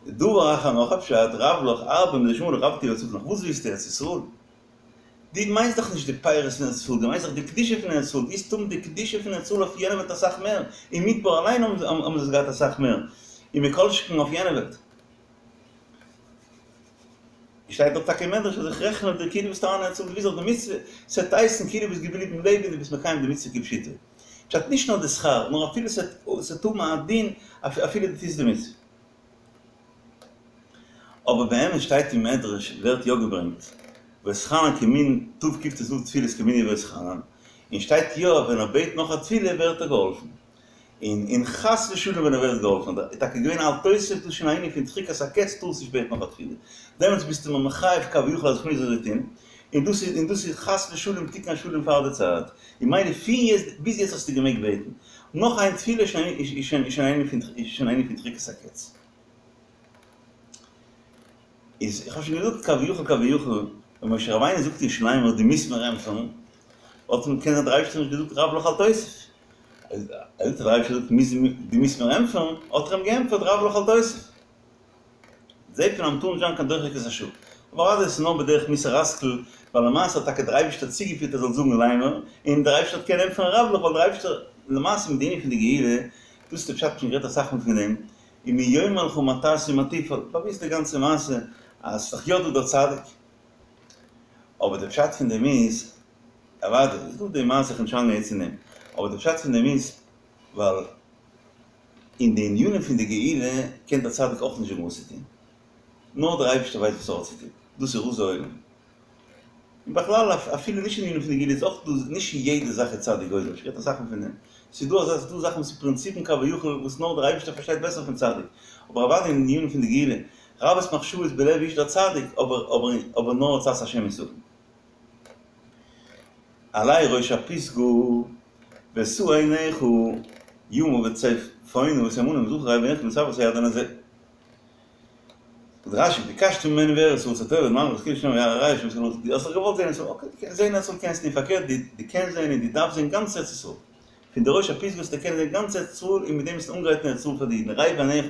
B: דבר אחר נאך א פשט, רב לך הרבה מדשמע לך רבה תהי בהצלחה, וואס ווילסטו ארץ ישראל? דו מיינסט דאך נישט די פירות פון ארץ ישראל, דו מיינסט דאך די קדושה פון ארץ ישראל, דו וועסט האבן די קדושה פון ארץ ישראל אויף יענע וועלט אסאך מער, אין מדבר אליין האבן זיי עס געהאט אסאך מער, און מכל שכן אויף יענע וועלט. שטייט דאך טאקע אין מדרש אז איך רעכן אויף דיר כאילו ביסט אריין אין ארץ ישראל, דו ווילסט דאך די מצוה, ס'וועט הייסן כאילו ביסט געבליבן לעבן און דו ביסט מקיים די מצוה כפשוטו. פשט נישט נאר די שכר, נאר אפילו ס'וועט האבן א דין אפילו דו טוסט די מצוה. אבער באמת שטייט אין מדרש ווערט יא געברענגט ואתחנן כמין תקט"ו תפילות כמנין ואתחנן, און שטייט יא ווען ער בעט נאך א תפילה ווערט ער געהאלפן. און און חס ושלום ווען ער ווערט געהאלפן איז טאקע געווען אל תוסיף דאס שוין א ענין פון דחיקת הקץ טארסט נישט בעטן נאך א תפילה דעמאלטס ביסטו מיר מחייב כביכול אז איך מוז אזוי טון און דאס איז און דאס איז חס ושלום תיקון השלם פאר די צייט און מילא פון יעצט ביז יעצט האסטו געמעגט בעטן נאך איין תפילה איז שוין איז שוין איז שוין א ענין פון איז שוין א ענין פון דחיקת הקץ. איז איך האב שוין געזאגט כביכול כביכול ווען משה רבינו זאגט יהושע לאמר דו מוזט מיר ענטפערן וואלט אים קען זיין דער אייבערשטער נישט געזאגט רב לך אל תוסיף אז דער אייבערשטער זאגט מוז דו מוזט מיר ענטפערן, האט ער אים געענטפערט רב לך אל תוסיף. זעט מען אז מ'טאר נישט זיין קיין דוחק את השעה. אבער אוודאי עס איז נאר בדרך מוסר השכל, ווייל למעשה האט טאקע דער אייבערשטער צוגעפירט ער זאל זאגן לאמר, און דער אייבערשטער האט קענען ענטפערן רב לך, ווייל דער אייבערשטער למעשה מיט די ענין פון די גאולה, דאס איז די פשט שוין גערעדט אסאך מאל פון דעם, ומי יאמר לך מה תעשה ומה תפעל, באוויסט די גאנצע מעשה אז ס'איז דאך יא דא דער צדיק. אבער די פשט פון דעם איז אוודאי איז דא די מעשה איך נישט אריינגיין יעצט אין דעם, אבער די פשט פון דעם איז ווייל אין די ענינים פון די גאולה קען דער צדיק אויך נישט זאגן וואס צו טון, נאר דער אייבערשטער ווייסט וואס ער האט צו טון, דאס איז רזי עולם. און בכלל אפילו נישט אין ענינים פון די גאולה איז אויך דא, נישט אין יעדע זאך איז צדיק גוזר, איך רעד אסאך מאל פון דעם, ס'איז דא אזא ס'איז דא זאכן וואס איז פרינציפן כביכול וואס נאר דער אייבערשטער פארשטייט בעסער פון צדיק, אבער אוודאי אין ענינים פון די גאולה, רבות מחשבות בלב איש דער צדיק, אבער אבער אבער נאר עצת השם היא תקום. עלה ראש הפסגה ושא עיניך ימה וצפונה ותימנה ומזרחה ראה ונראה כי לא תעבור את הירדן הזה. זאגט רש"י ביקשת ממני ואראה את הארץ הטובה למען כאילו שם יראה שם ס'לא דו האסט דאך געוואלט זען ארץ ישראל אקעי דו קענסט זען ארץ ישראל קענסטו און פארקערט דו קענסט זען און דו דארפסט זען גאנץ ארץ ישראל פון די ראש הפסגה וועסטו קענען זען גאנץ ארץ ישראל און מיט דעם וועסטו אנגרייטן ארץ ישראל פאר די אידן ראה בעיניך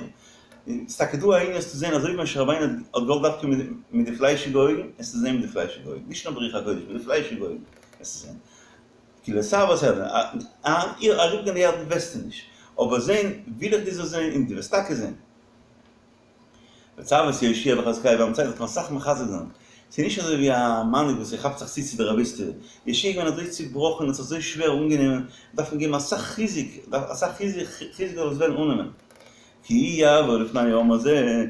B: ס'איז טאקע דא א ענין עס צו זען אזוי ווי משה רבינו האט געוואלט דווקא מיט די פליישיגע אויגן עס צו זען מיט די פליישיגע אויגן נישט נאר ברוח הקודש מיט די פליישיגע אויגן עס צו זען כי לא תעבור את הירדן אריבערגיין די ירדן וועסטו נישט אבער זען וויל איך דו זאלסט זען און דו וועסט טאקע זען. וצו את יהושע וחזקהו ואמצהו דארף מען אסאך מחזק זיין, ס'איז נישט אזוי ווי א מנהיג וואס ער כאפט זיך צו צו די רביסטעווע, יהושע איז געווען אזוי צובראכן און האט זיך אזוי שווער אנגענומען, דארף מען געבן אסאך חיזוק, אסאך חיזוק זאל עס וועלן אננעמען, כי הוא יעבור לפני העם הזה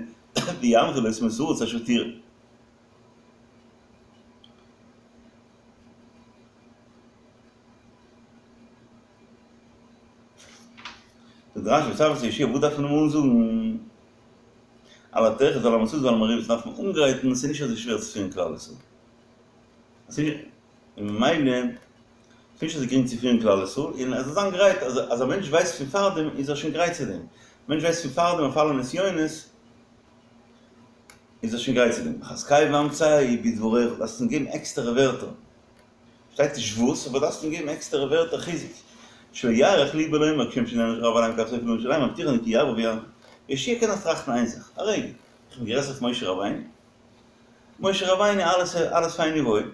B: וינחיל אותם את הארץ אשר תראה. זאגט רש"י וצו את יהושע וואס דארף מען אים אנזאגן? על הטרחות ועל המשאות ועל המריבות דארף מען אנגרייטן, עס איז נישט אזוי שווער צו פירן כלל ישראל, עס איז און ממילא עס איז נישט אזוי גרינג צו פירן כלל ישראל, און ער זאל זיין גרייט, אז אז א מענטש ווייסט פון פארדעם איז ער שוין גרייט צו דעם, א מענטש ווייסט פון פארדעם אויף אלע נסיונות איז ער שוין גרייט צו דעם, חזקהו ואמצהו בדבריך, דארפסט אים געבן עקסטערע ווערטער. שטייט נישט וואס, אבער דארפסט אים געבן עקסטערע ווערטער חיזוק. שלא יאריך לבו לומר כשם שנענש הרב עליהם כך סופו להעניש עליהם מבטיחני כי יעבור וינחיל. יהושע קען נאך טראכטן איין זאך, א רגע, איך בין גרעסער פון משה רבינו? משה רבינו אלעס אלעס פיין און וואויל,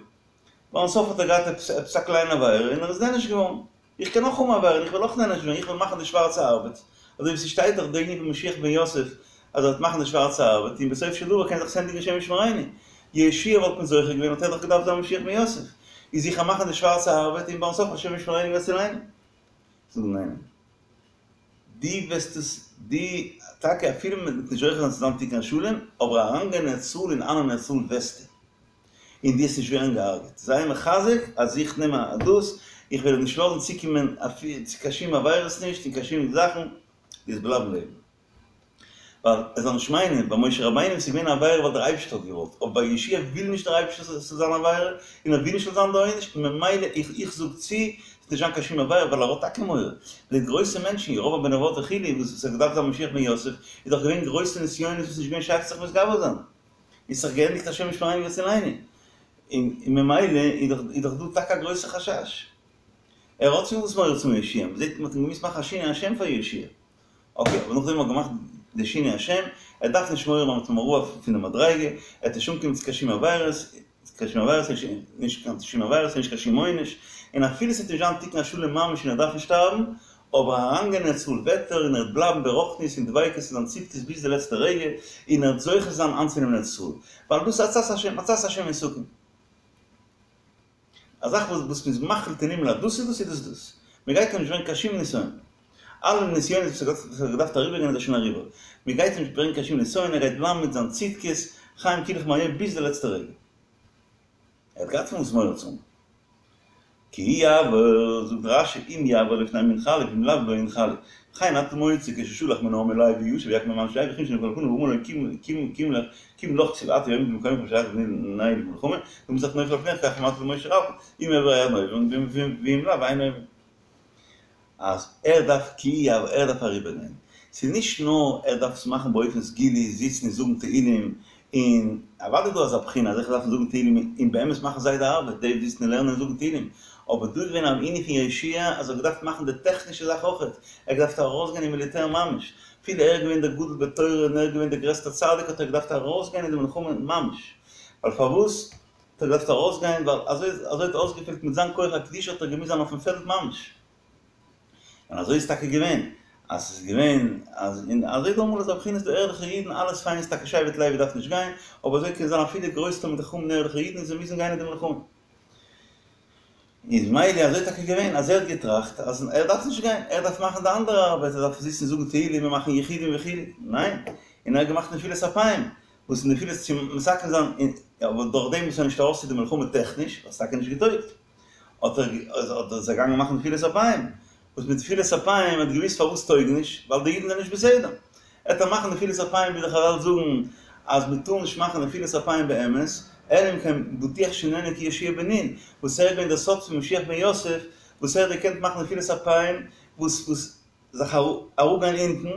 B: ביים סוף האט ער געהאט עפעס עפעס א קליינע עבירה און ער איז נענש געווארן. איך קען אויך האבן עבירה און איך וועל אויך נענש ווערן, איך וועל מאכן די שווארצע ארבעט, אזוי ווי ס'שטייט דאך די ענין פון משיח בן יוסף אז ער וועט מאכן די שווארצע ארבעט און בסוף של דבר קען זיך עס ענדיגן השם ישמרינו. יהושע וואלט מען זוכה געווען האט ער דאך געדארפט זיין משיח בן יוסף, איז איך גיי מאכן די שווארצע ארבעט און ביים סוף השם ישמרינו ויצילנו. זאג ניין. דו וועסט עס, דו, טאקע אפילו מען וועט נישט זוכה זיין צו זיין תיקון השלם, אבער אריינגיין אין ארץ ישראל און אייננעמען ארץ ישראל וועסטו. און דו וועסט נישט ווערן געהארגעט. זיי מחזק אז איך נעם א דאס, איך וועל נישט לאזן צוקומען צו קיין שום עבירות נישט און קיין שום זאכן, דו וועסט בלייבן לעבן. ווייל ער זאל נישט מיינען, ביי משה רבינו איז געווען א עבירה ווייל דער אייבערשטער האט געוואלט, אבער ביי יהושע וויל נישט דער אייבערשטער ס'זאל זיין עבירה, און ער וויל נישט ס'זאל זיין די עונש, ממילא איך איך זאג צו, ס'וועט נישט זיין קיין שום עבירה ווייל ער האט טאקע מורא. די גרויסע מענטשן, ירבעם בן נבט וכו', וואס עס האט געדארפט זיין משיח בן יוסף, איז דאך געווען גרויסע נסיונות וואס איז נישט געווען שייך זיך מתגבר זיין. איז זיך געענדיגט השם ישמרינו ויצילנו. און ממילא איז דאך איז דאך דא טאקע א גרויסע חשש. ער האט צו וואס מורא צו יהושע, מ'זעט מ'האט אים געמוזט מאכן א שינוי השם פאר יהושע. אקעי, אבער נאכדעם מ'האט געמאכט די שינוי השם, ער דארף נישט מורא האבן מ'האט אים אראפ פון די מדריגה, ער וועט נישט אנקומען צו קיין שום עבירות, קיין שום עבירות, נישט קיין שום עבירות, נישט קיין שום עונש, און אפילו ס'וועט נישט זיין תיקון השלם ממש און ער דארף נישט שטארבן, אבער אריינגיין אין ארץ ישראל וועט ער און ער וועט בלייבן ברוחניות און דביקות אין זיין צדקות ביז די לעצטע רגע, און ער וועט זוכה זיין איינצונעמען ארץ ישראל, ווייל דאס איז עצת השם, עצת השם היא תכון. א זאך וואס וואס מ'איז מחליט אין הימל אז דאס איז דאס איז דאס דאס. מ'גייט אים נישט ברענגען קיין שום נסיון. אלע נסיונות וואס ער האט געדארפט אריבערגיין איז ער שוין אריבער. מ'גייט אים נישט ברענגען קיין שום נסיון, ער גייט בלייבן מיט זיין צדקות, חיים כולכם היום ביז די לעצטע רגע. ער האט געהאט פון וואס מורא צו האבן. כי יעבור, זאגט רש"י, אם יעבור לפני ינחלו ואם לאו לא ינחלו. וכן אתה מוצא כששלח מן העם לוי ישב ויקם עם אנשי וכיוון שנפל לפניו ואמר לו קום לך קום לך כתיב אתה עומד במקומך ושלח את בני למלחמה למה צריך נופל על פניך כך אמרת למשה רבך אם יעבור הירדן עוברים ואם לאו אין עוברים. אז ער דארף כי יעבור ער דארף אריבערגיין. ס'איז נישט נאר ער דארף עס מאכן באופן סגולי, זיצן און זאגן תהילים, און אוודאי דא אזא בחינה אז איך דארף זאגן תהילים און באמת מאכן זיי די ארבעט, די זיצן און לערנען און זאגן תהילים, אבער דא איז געווען אן ענין פון יהושע אז ער האט געדארפט מאכן די טעכנישע זאך אויכעט, ער האט געדארפט ארויסגיין אין מיליטער ממש, אפילו ער איז געווען דער גדול בתורה און ער איז געווען דער גרעסטער צדיק האט ער געדארפט ארויסגיין אין די מלחמה ממש, ווייל פארוואס האט ער געדארפט ארויסגיין ווייל אזוי אזוי האט אויסגעפעלט מיט זיין כח הקדושה האט ער געמוזט זיין אויפן פעלד ממש. און אזוי איז טאקע געווען, אז ס'איז געווען אז און אזוי דא אמאל אזא בחינה ס'דא ערליכע אידן אלעס פיין איז טאקע שבט לוי דארף נישט גיין, אבער אזוי קען זיין אפילו גרויסע תלמידי חכמים און ערליכע אידן און זיי מוזן גיין אין די מלחמה. איז מילא אזוי טאקע געווען אז ער האט געטראכט אז ער דארף נישט גיין, ער דארף מאכן די אנדערע ארבעט, ער דארף זיצן זאגן תהילים און מאכן יחודים וכו', ניין, און ער האט געמאכט נפילת אפיים, וואס איז נפילת צו מתקן זיין, אבער דורך דעם איז ער נישט ארויס צו די מלחמה טעכניש, ווייל ס'איז טאקע נישט געטויגט. האט ער האט ער זיך געגאנגען מאכן נפילת אפיים, וואס מיט נפילת אפיים האט געוויסט פארוואס טויג נישט, ווייל די אידן זענען נישט בסדר. עט ער מאכן נפילת אפיים ווי די חזל זאגן אז מען טאר נישט מאכן נפילת אפיים באמת, אלא אם כן בטוח שאיננו כיהושע בן נון, וואס ער איז געווען דער סוד פון משיח בן יוסף, וואס ער האט געקענט מאכן נפילת אפיים, וואס וואס זיך אראפגיין אונטן,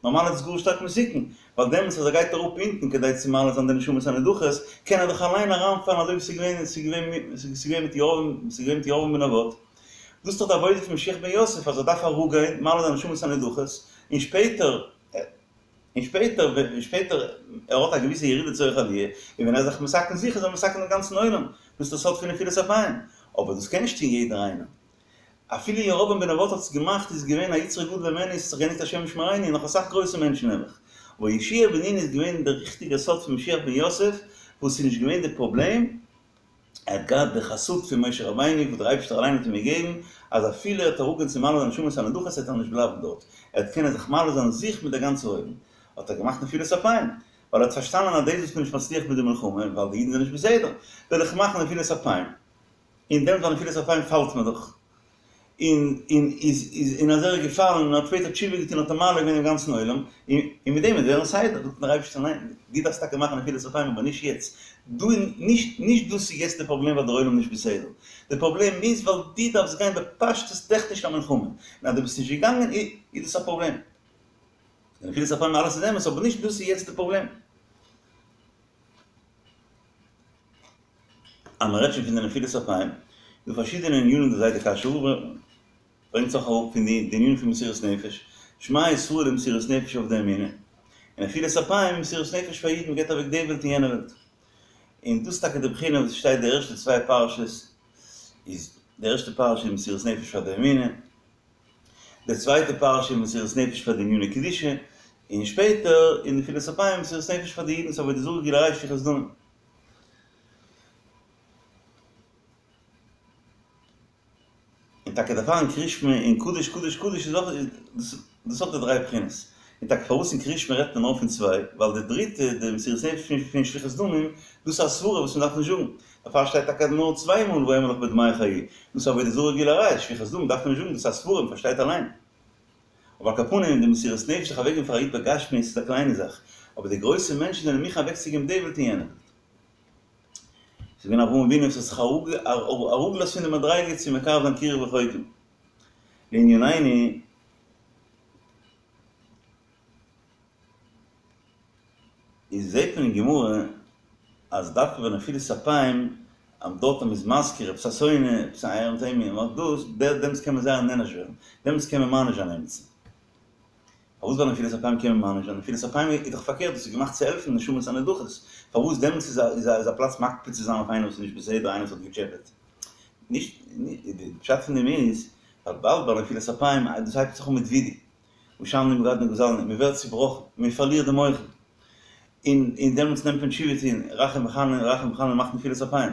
B: נארמאל איז עס גאר שטארק מסוכן, ווייל דעמאלטס אז ער גייט אראפ אונטן כדי צו מעלה זיין די נשמות הנדחות, קען ער דאך אליין אריינפאלן אזוי ווי ס'איז געווען ס'איז געווען ס'איז געווען מיט ירבעם ס'איז געווען מיט ירבעם בן נבט. דאס איז דאך די עבודה פון משיח בן יוסף אז ער דארף אראפגיין מעלה זיין נשמות הנדחות, און שפעטער און שפעטער און שפעטער ער האט א געוויסע ירידה לצורך עליה, און ווען ער איז זיך מתקן זיך איז ער מתקן דעם גאנצן עולם, דאס איז דער סוד פון נפילת אפיים, אבער דאס קען נישט טון יעדער איינער. אפילו ירבעם בן נבט האט עס געמאכט איז געווען א יצרו גדול ממנו ס'האט זיך געענדיגט השם ישמרינו און נאך אסאך גרויסע מענטשן נעבעך. אבער יהושע בן נון איז געווען דער ריכטיגער סוד פון משיח בן יוסף וואס איז נישט געווען די פראבלעם, ער האט געהאט די חסות פון משה רבינו וואס דער אייבערשטער אליין האט אים געגעבן אז אפילו ער וועט אראפגיין צו מעלה זיין נשמות הנדחות וועט ער נישט בלייבן דארט, ער וועט קענען זיך מעלה זיין זיך מיט דער גאנצע עולם. האט ער געמאכט נפילת אפיים ווייל ער האט פארשטאנען אז דאס וואס מ'איז נישט מצליח מיט די מלחמה ווייל די אידן זענען נישט בסדר וועל איך מאכן נפילת אפיים. און דעמאלט ביי נפילת אפיים פאלט מען דאך, און און איז איז און אז ער איז געפאלן און האט שפעטער תשובה געטון האט ער מעלה געווען דעם גאנצן עולם, און און מיט דעם וועט ווערן סדר, זאגט דער אייבערשטער ניין, דו דארפסט טאקע מאכן נפילת אפיים אבער נישט יעצט, דא איז נישט נישט דאס איז יעצט די פראבלעם ווייל דער עולם איז נישט בסדר, די פראבלעם איז ווייל דו דארפסט גיין בפשטות טעכניש א מלחמה, און אז דו ביסט נישט געגאנגען איז דאס א פראבלעם. די נפילת אפיים אלעס איז אמת אבער נישט דאס איז יעצט די פראבלעם. אז מען רעדט שוין פון די נפילת אפיים, איז דא פארשידענע ענינים די זיידע קאשוי רב ברענגט זיך אראפ פון די ענינים פון מסירות נפש, שמע ישראל איז מסירות נפש אויף די אמונה, און נפילת אפיים איז מסירות נפש פאר אידן, מען געבט אוועק די וועלט און יענע וועלט. און דאס איז טאקע די בחינה וואס שטייט די ערשטע צוויי פרשות, איז די ערשטע פרשה איז מסירות נפש פאר די אמונה, די צווייטע פרשה איז מסירות נפש פאר די עניני קדושה, און שפעטער אין נפילת אפיים מסירות נפש פאר די אידן, ס'איז עבודה זרה גילוי עריות שפיכות דמים. און טאקע דערפאר אין קריאת שמע אין קדוש קדוש קדוש איז אויך דאס דאס האט די דריי בחינות. און טאקע פארוואס אין קריאת שמע רעדט מען נאר פון צוויי, ווייל די דריטע, די מסירות נפש פון שפיכות דמים, דאס איז א סברה וואס מען דארף נישט זאגן. דערפאר שטייט טאקע נאר צוויי מאל ואומר לך בדמייך חיי. דאס איז עבודה זרה גילוי עריות, שפיכות דמים דארף מען נישט זאגן, דאס איז א סברה, מען פארשטייט אליין. אבער על כל פנים, די מסירות נפש זיך אוועקגעבן פאר א איד בגשמיות איז א קליינע זאך, אבער די גרויסע מענטשן זענען מוכן אוועקצוגעבן די וועלט און יענע וועלט. ס'איז געווען אברהם אבינו וואס האט זיך אראפגעלאזט פון די מדריגה צו מקרב זיין קירוב רחוקים. לענינינו, איז זעט מען אין גמרא אז דווקא ביי נפילת אפיים אז דארט אז מ'איז מזכיר עפעס א שונא, עפעס א ערנסטע ענין, און דאס, דעמאלטס קען מען זייער נענש ווערן, דעמאלטס קען מען מעניש זיין עמיצן. פארוואס ביי נפילת אפיים קען מען מעניש זיין? נפילת אפיים איז דאך פארקערט, דאס איז געמאכט צו העלפן נשמות הנדחות, פארוואס דעמאלטס איז א איז א פלאץ מקפיד צו זיין אויף איינער וואס איז נישט בסדר, איינער וואס האט געטשעפעט? נישט, די פשט פון דעם איז, ווייל באלד ביי נפילת אפיים, דאס הייבט זיך אן מיט וידוי, אשמנו בגדנו גזלנו, מען ווערט צובראכן, מען פארלירט די מוחין, און און דעמאלטס נעמט מען תשובה טון, רחום וחנון, רחום וחנון מאכט נפילת אפיים,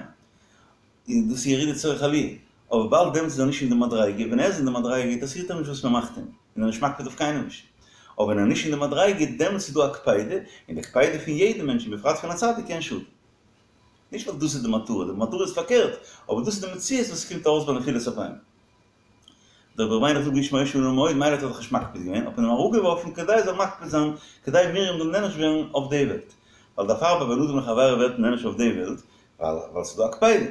B: און דאס איז ירידה צורך עליה, אבער באלד דעמאלטס איז ער נישט אין די מדריגה, ווען ער איז אין די מדריגה אינטערעסירט אים נישט וואס מען מאכט אים, און ער איז נישט מקפיד אויף קיינעם נישט. אבער ווען ער איז נישט אין די מדריגה, דעמאלטס איז דא א קפידה, און די קפידה פון יעדן מענטש, און בפרט פון א צדיק, קען שאטן. נישט ווייל דאס איז די מטרה, די מטרה איז פארקערט, אבער דאס איז די מציאות וואס קומט ארויס ביי נפילת אפיים. דער רבי ר' מיילעך זאגט והאיש מאושר לנו מאוד, מילא האט ער זיך נישט מקפיד געווען, האט מען אים אראפגעווארפן כדי ער זאל מקפיד זיין, כדי מרים זאל נענש ווערן אויף די וועלט. ווייל דערפאר ביי בין אדם לחבירו ווערט מען נענש אויף די וועלט, ווייל ווייל ס'איז דא א קפידה.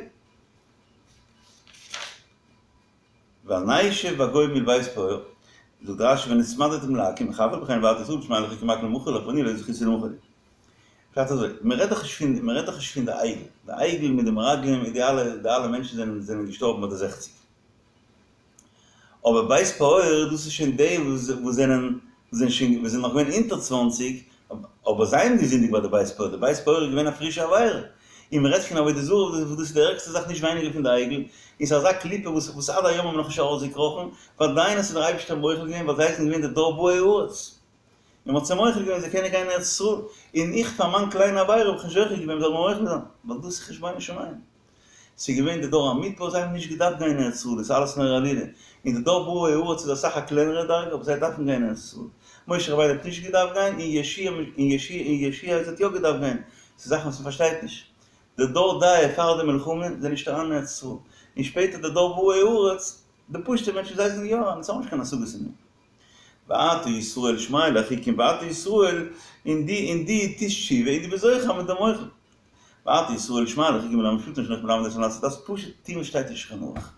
B: ונשב בגוי מול בית פעור, זאגט רשי ונצמדתם לעכו"ם, אך אף על פי כן ועתה ישראל שמע אל החוקים מקל ומחול לך ואני לא זכיתי למחול לי. פשט אזוי, מען רעדט דאך נישט פון, מען רעדט דאך נישט פון די עגל, די עגל מיט די מרגלים מיט די אלע, די אלע מענטשן זענען זענען געשטארבן ביי די זעכציג. אבער בית פעור דאס איז שוין די וואס וואס זענען זענען שוין וואס זענען נאך געווען אונטער צוואנציג, אבער זיי האבן געזינדיגט ביי די בית פעור, די בית פעור איז געווען א פרישע עבירה, און מען רעדט פון עבודה זרה וואס דאס איז די ערגסטע זאך נישט ווייניגער פון די עגל, און ס'איז אזא קליפה וואס וואס עד היום האבן נאך נישט ארויסגעקראכן, ועדיין האט זיי דער אייבערשטער מוחל געווען ווייל זיי זענען געווען די דור באי הארץ. און מ'האט זיי מוחל געווען זיי קענען גיין אין ארץ ישראל, און איך פאר מיין קליינע עבירה האב איך נישט זוכה געווען מ'זאל מיר מוחל זיין, ווייל דאס איז חשבונות שמים. ס'איז געווען די דור המדבר זיי האבן נישט געדארפט גיין אין ארץ ישראל, דאס איז אלעס נאר עלילה, און די דור באי הארץ איז אסאך א קלענערע דרגה אבער זיי דארפן גיין אין ארץ ישראל. משה רבינו האט נישט געדארפט גיין און יהושע און יהושע און יהושע האט יא געדארפט גיין, ס'איז זאכן וואס מ'פארשטייט נישט. די דור דעה פאר די מלחמה זענען נישט אריין אין ארץ ישראל, און שפעטער די דור באי הארץ, די פשוטע מענטשן זיי זענען יא אריין, אונז האבן נישט קיין השגות אין דעם. ועתה ישראל שמע אל החוקים ועתה ישראל און דו און דו טוסט תשובה און דו ביסט זוכה מ'איז דיר מוחל. ועתה ישראל שמע אל החוקים ולמשפטים אשר אנכי מלמד אתכם לעשות דארפסט פשוט טון וואס שטייט אין שולחן ערוך.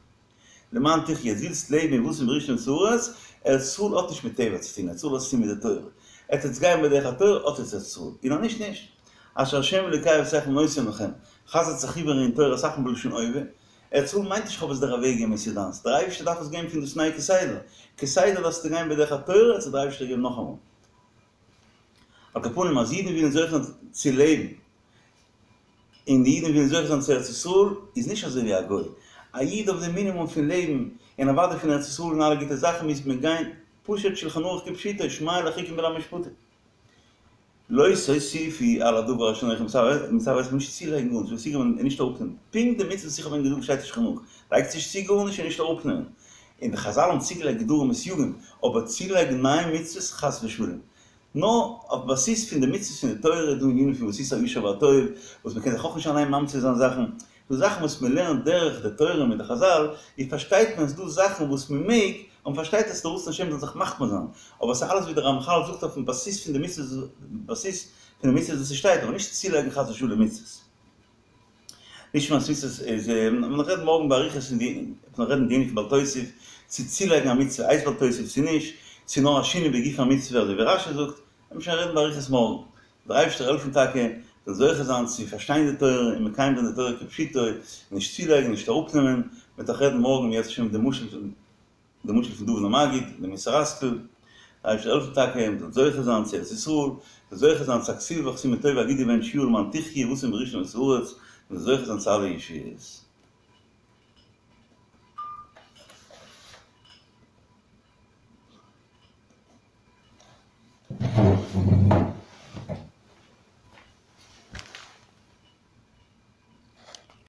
B: למען תחיה יעצט ווילסט לעבן ובאתם וירשתם את הארץ, ארץ ישראל האט נישט מיט טבע צו טון, ארץ ישראל האט צו טון מיט די תורה. עטס וועטס גיין בדרך התורה האט עטס ארץ ישראל, און אז נישט נישט. אשר ה' אלוקי אבותיכם נותן לכם, חזר'ט זיך איבער אין תורה אסאך מאל בלשון הווה, ארץ ישראל מיינט נישט כ'האב עס דיר אוועק געגעבן עס איז דיינס, דער אייבערשטער דארף עס געבן פון דאס ניי כסדר, כסדר דארפסטו גיין בדרך התורה וועט דער אייבערשטער געבן נאכאמאל. על כל פנים אז אידן ווילן זוכה זיין צו לעבן, און די אידן ווילן זוכה זיין צו ארץ ישראל, איז נישט אזוי ווי א גוי, א איד אויף די מינימום פון לעבן, און אוודאי פון ארץ ישראל און אלע גוטע זאכן מוז מען גיין פשוט שלחן ערוך כפשוטו, שמע אל החוקים ולמשפטים. לא תוסיפו על הדבר אשר אנכי מצוה אתכם נישט צולייגן גארנישט, וואס איך האב און נישט אראפנעמען, פונקט די מצוות וואס איך האב ענק געזאגט שטייט אין שולחן ערוך, לייגטס נישט צו גארנישט און נישט אראפנעמען, און די חזל האבן צוגעלייגט גדרים וסייגים, אבער צולייגן נייע מצוות חס ושלום, נאר אויף בסיס פון די מצוות פון די תורה איז דא ענינים פון ועשית הישר והטוב וואס מען קען זיך אויך נישט אליין ממציא זיין זאכן, דא זאכן וואס מען לערנט דורך די תורה מיט די חזל, איז פארשטייט מען אז דא זאכן וואס מען מעג, און מ'פארשטייט אז ס'איז דער רצון השם זאל זיך מחמיר זיין, אבער ס'איז אלעס ווי דער רמחל זאגט אויפן בסיס פון די מצוות, בסיס פון די מצוות וואס ס'שטייט, אבער נישט צולייגן חס ושלום מצוות. נשמת מצוות איז, מ'וועט נאך רעדן מארגן באריכות אין די, מ'וועט נאך רעדן די ענין פון בל תוסיף, צו צולייגן א מצוה הייסט בל תוסיף צו נישט, צו נאר א שינוי בגוף המצוה אזוי ווי רשי זאגט, וועט מען שוין רעדן באריכות מארגן. דער אייבערשטער העלפן טאקע זאל זוכה זיין צו פארשטיין די תורה און מקיים זיין די תורה כפשוטו, נישט צולייגן נישט אראפנעמען, מ'וועט נאך רעדן מארגן אם ירצה השם די משל די משל פון דוד המגיד, די מוסר השכל, דער אייבערשטער העלפן טאקע מ'זאל זוכה זיין צו ארץ ישראל, מ'זאל זוכה זיין צו א כתיבה וחתימה טובה א גוט געבענטשט יאר למען תחי' ובאתם וירשתם את הארץ, מ'זאל זוכה זיין צו אלע ישועות.